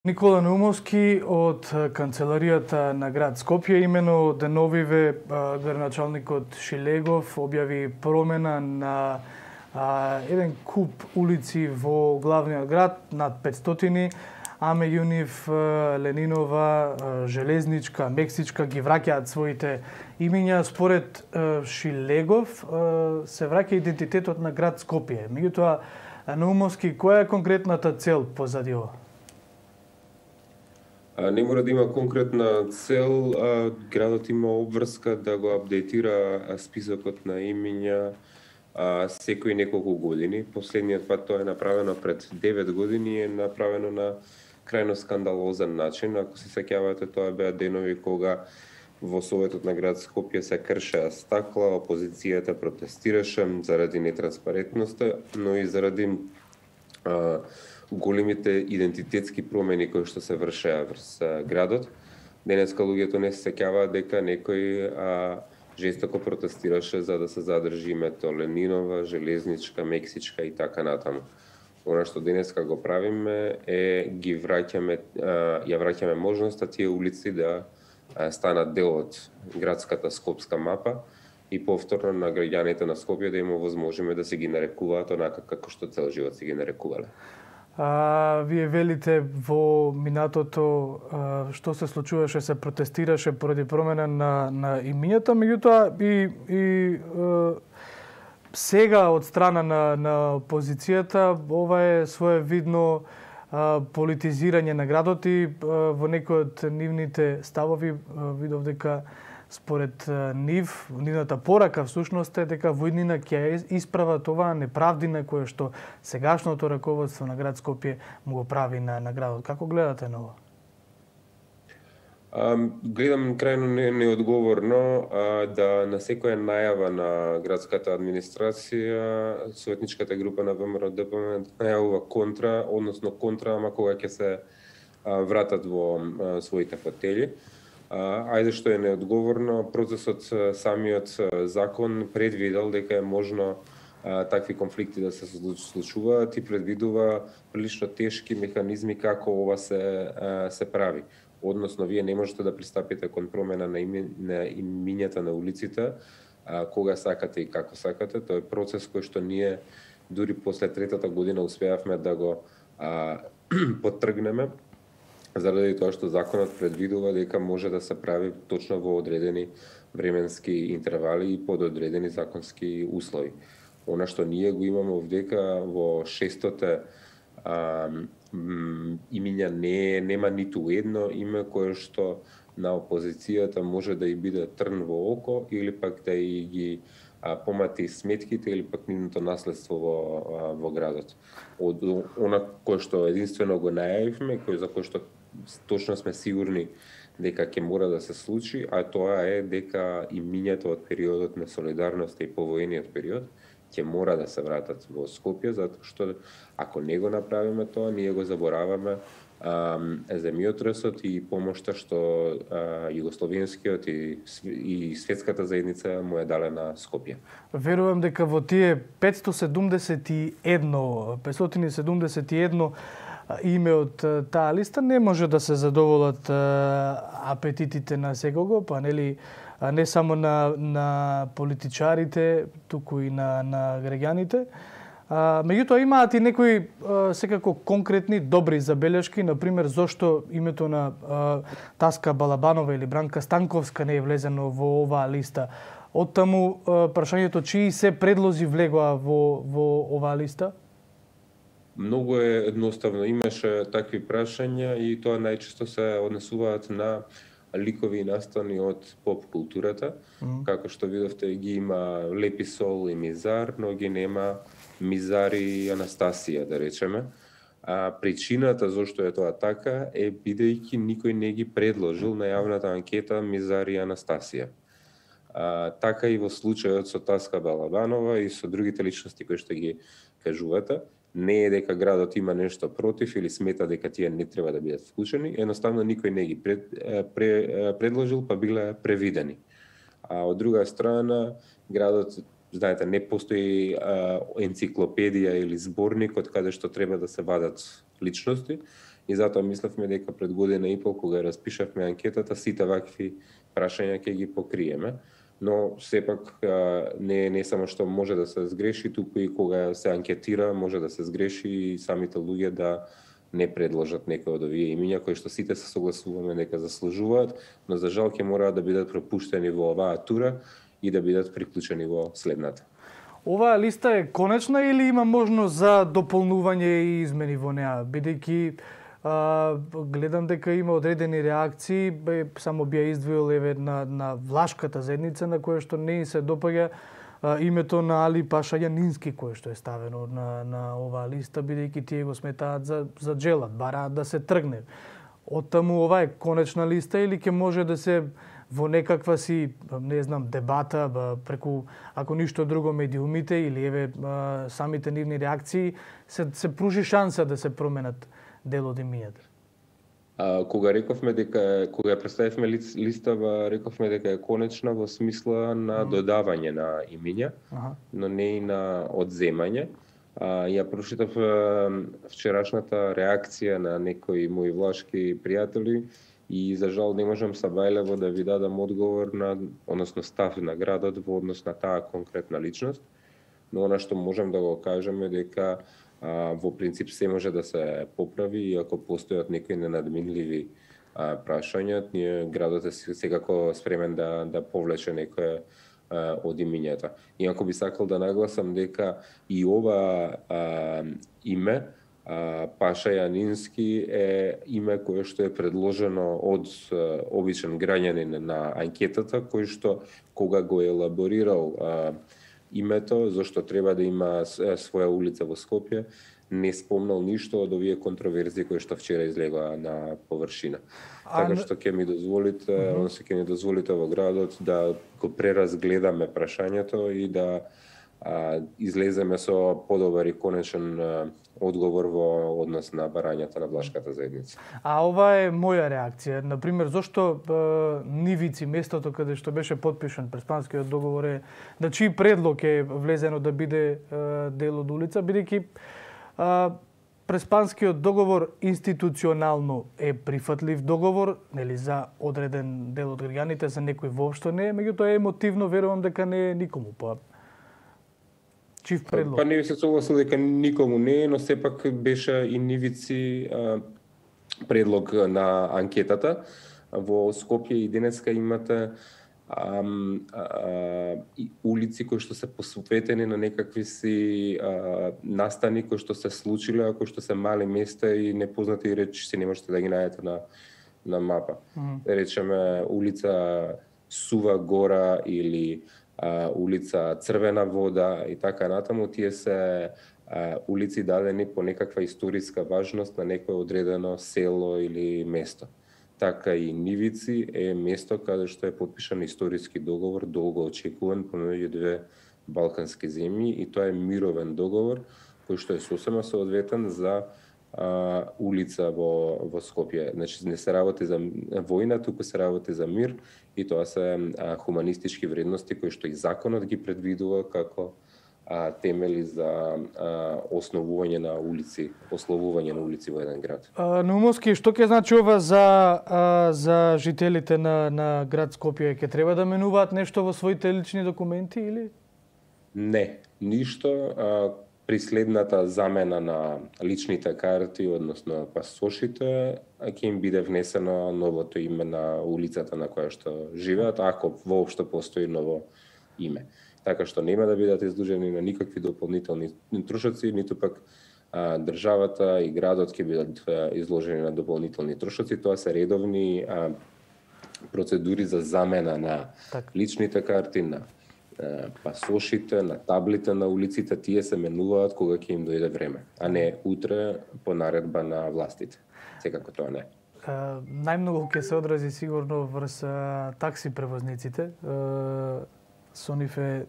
Никола Наумовски од канцеларијата на град Скопје, имено деновиве градоначалникот Шилегов објави промена на еден куп улици во главниот град, над 500, а меѓу нив Ленинова, Железничка, Мексичка ги враќаат своите имиња. Според Шилегов се враќа идентитетот на град Скопје. Меѓутоа, Наумовски, која е конкретната цел позади ова? Не мора да има конкретна цел, градот има обврска да го апдейтира списокот на имиња секои неколку години. Последниот пат тоа е направено пред 9 години, е направено на крајно скандалозен начин. Ако се сеќавате, тоа беа денови кога во Советот на град Скопје се кршеа стакла, опозицијата протестираше заради нетранспарентноста, но и заради големите идентитетски промени кои што се вршеа врз градот. Денеска луѓето не се сеќаваат дека некој жестоко протестираше за да се задржи името Ленинова, Железничка, Мексичка и така натаму. Она што денеска го правиме е ја враќаме можноста тие улици да станат дел од градската скопска мапа и повторно на граѓаните на Скопје да им овозможиме да се ги нарекуваат онака како што цел живот се ги нарекувале. Вие велите во минатото што се случуваше, се протестираше поради промена на имињата, меѓутоа и сега од страна на опозицијата ова е своевидно политизирање на градот и во некои од нивните ставови видов дека според нивната порака всушност е дека во иднина ќе исправат оваа неправдина која што сегашното раководство на град Скопје му го прави на градот. Како гледате на ова? Гледам крајно неодговорно да на секоја најава на градската администрација советничката група на ВМРО-ДПМН најавува контра, ама кога ќе се вратат во своите фотели. Ајде што е неодговорно, процесот самиот закон предвидел дека е можно такви конфликти да се случуваат и предвидува прилично тешки механизми како ова се прави. Односно, вие не можете да пристапите кон промена на имињата на улиците кога сакате и како сакате. Тоа е процес кој што ние дури после третата година успеавме да го поттргнеме, заради тоа што законот предвидува дека може да се прави точно во одредени временски интервали и под одредени законски услови. Она што ние го имаме овдека во 600 имиња нема ниту едно име кое што на опозицијата може да и биде трн во око или пак да и ги помати сметките или пак нивното наследство во градот. Од она кое што единствено го најавивме, за кое што точно сме сигурни дека ќе мора да се случи, а тоа е дека имињата од периодот на солидарност и повоениот период ќе мора да се вратат во Скопје, затоа што ако не го направиме тоа, ние го забораваме земјотресот и помошта што југословенскиот и светската заедница му е дале на Скопје. Верувам дека во тие 571 име од таа листа не може да се задоволат апетитите на секого, па нели не само на политичарите, туку и на граѓаните. Меѓутоа имаат и некои секако конкретни добри забелешки, например зошто името на Таска Балабанова или Бранка Станковска не е влезено во оваа листа. Оттаму прашањето чии се предлози влегоа во оваа листа? Многу е едноставно. Имаше такви прашања и тоа најчесто се однесуваат на ликови и настани од поп културата. Како што видовте, ги има Лепи Сол и Мизар, но ги нема Мизар и Анастасија, да речеме. Причината зашто е тоа така е бидејќи никој не ги предложил на јавната анкета Мизар и Анастасија. Така и во случајот со Таска Балабанова и со другите личности кои што ги кажувате. Не е дека градот има нешто против или смета дека тие не треба да бидат вклучени, едноставно никој не ги предложил, па биле превидени. А од друга страна, градот, знаете, не постои енциклопедија или зборник од каде што треба да се вадат личности И затоа мислевме дека пред година и пол кога распишавме анкетата, сите вакви прашања ќе ги покриеме. Но сепак не само што може да се сгреши, туку и кога се анкетира може да се сгреши и самите луѓе да не предложат некои од овие имиња кои што сите се согласуваме дека заслужуваат, но за жал ќе мораат да бидат пропуштени во оваа тура и да бидат приклучени во следната. Оваа листа е конечна или има можност за дополнување и измени во неа, бидејќи гледам дека има одредени реакции, само би ја издвоил еве на влашката заедница на која што не се допаѓа името на Али Паша Јанински кој што е ставено на оваа листа, бидејќи тие го сметаат за джелат, бараат да се тргне. Оттаму ова е конечна листа или ќе може да се во некаква си, не знам, дебата преку, ако ништо друго, медиумите или еве самите нивни реакции, се пружи шанса да се променат дел од имињата. Кога ја представивме листава, рековме дека е конечна во смисла на додавање на имиња, но не и на одземање. Ја прочитав вчерашната реакција на некои мои влашки пријатели и за жал не можам сабајлево да ви дадам одговор односно став на градот во однос на таа конкретна личност, но она што можам да го кажем е дека во принцип се може да се поправи и ако постојат некои ненадминливи прашања, градот е секако спремен да повлече некое од имињата. Иако би сакал да нагласам дека и ова име Паша Јанински е име кое што е предложено од обичен граѓанин на анкетата, кој што кога го елаборирал името, зашто треба да има своја улица во Скопје, не спомнал ништо од овие контроверзии кои што вчера излегоа на површина. Така што ќе ми дозволите во градот да го преразгледаме прашањето и да излеземе со подобар и конечен одговор во однос на барањата на влашката заедница. Ова е моја реакција. Например, зошто Нивици, местото каде што беше потпишан Преспанскиот договор е, на чиј предлог е влезено да биде дел од улица, бидејќи Преспанскиот договор институционално е прифатлив договор, нели, за одреден дел од граѓаните, за некој воопшто не е, меѓутоа емотивно верувам дека не е никому. Чив предлог? Не се согласил дека никому не е, но сепак беше и Нивици предлог на анкетата. Во Скопје и денеска имате улици кои што се посветени на некакви си настани кои што се случиле, кои што се мали места и непознати речи се не можете да ги најдете на мапа. Речеме улица Сува гора или улица Црвена вода и така натаму, тие се улици дадени по некаква историска важност на некое одредено село или место. Така и Нивици е место каде што е потпишан историски договор, долго очекуван помеѓу две балкански земји, и тоа е мировен договор кој што е сосема соодветен за улица во Скопје. Значи не се работи за војна, туку се работи за мир, и тоа се хуманистички вредности кои што и законот ги предвидува како темели за основување на улици, ословување на улици во еден град. Наумовски, што ќе значи ова за жителите на град Скопје? Ќе треба да менуваат нешто во своите лични документи или? Не, ништо. При следната замена на личните карти, односно пасошите, ќе им биде внесено новото име на улицата на која што живеат, ако воопшто постои ново име. Така што нема да бидат изложени на никакви дополнителни трошоци, ниту пак државата и градот ќе бидат изложени на дополнителни трошоци. Тоа се редовни процедури за замена на личните карти, на пасошите, на таблите на улиците. Тие се менуваат кога ќе им дојде време, а не утре по наредба на властите. Секако тоа не. Најмногу ќе се одрази сигурно врз такси превозниците. Со нив е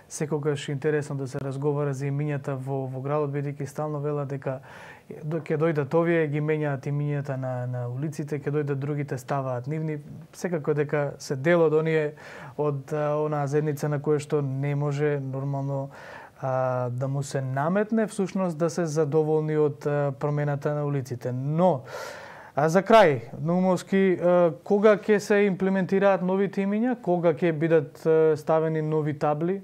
секогаш интересно да се разговара за имињата во градот, бидејќи стално велат дека ќе дојдат овие, ги менјаат имињата на улиците, ќе дојдат другите, ставаат нивни. Секако дека се дел од оние, од онаа заедница на која што не може нормално да му се наметне всушност да се задоволни од промената на улиците. Но за крај, Наумовски, кога ќе се имплементираат новите имиња? Кога ќе бидат ставени нови табли?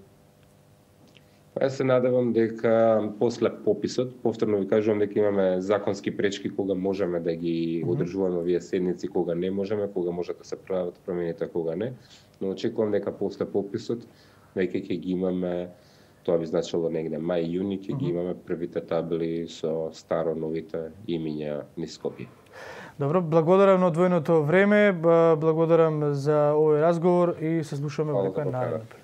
Јас се надевам дека после пописот, повторно ви кажувам дека имаме законски пречки кога можеме да ги одржуваме овие седници, кога не можеме, кога можат да се прават промените, кога не. Но очекувам дека после пописот веќе ќе ги имаме, тоа би значило негде мај, јуни, ќе ги имаме првите табли со старо новите имиња низ Скопје. Добро, благодарам на одвоеното време, благодарам за овој разговор и се слушаме во некој нареден.